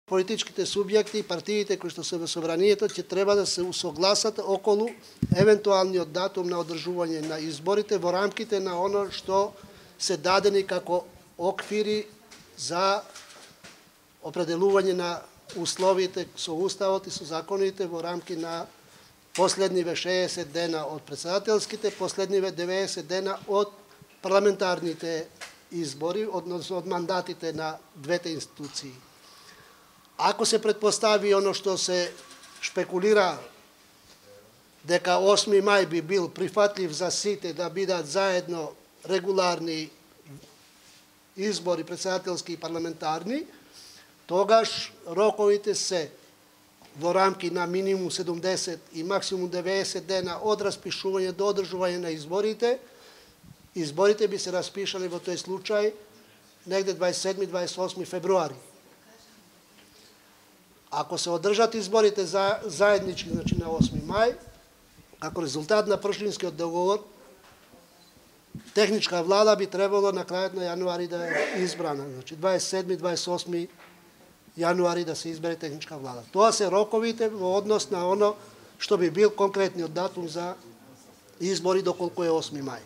Политичките субјекти и партиите кои што се во собранието ќе треба да се усогласат околу евентуалниот датум на одржување на изборите во рамките на оно што се дадени како оквири за определување на условите со уставот и со законите во рамки на последниве 60 дена од претседателските, последниве 90 дена од парламентарните избори, односно од мандатите на двете институции. Ако се предпостави оно што се шпекулира дека 8 мај би бил прифатлив за сите да бидат заедно регуларни избори претседателски и парламентарни, тогаш роковите се во рамки на минимум 70 и максимум 90 дена од распишување до одржување на изборите. Изборите би се распишале во тој случај негде 27-28 февруари. Ако се одржат изборите заеднички, значи на 8 мај, како резултат на пршинскиот договор, техничка влада би требало на крајот на јануари да е избрана. Значи 27-28 јануари да се избере техничка влада. Тоа се роковите во однос на оно што би бил конкретниот датум за избори доколку е 8 мај.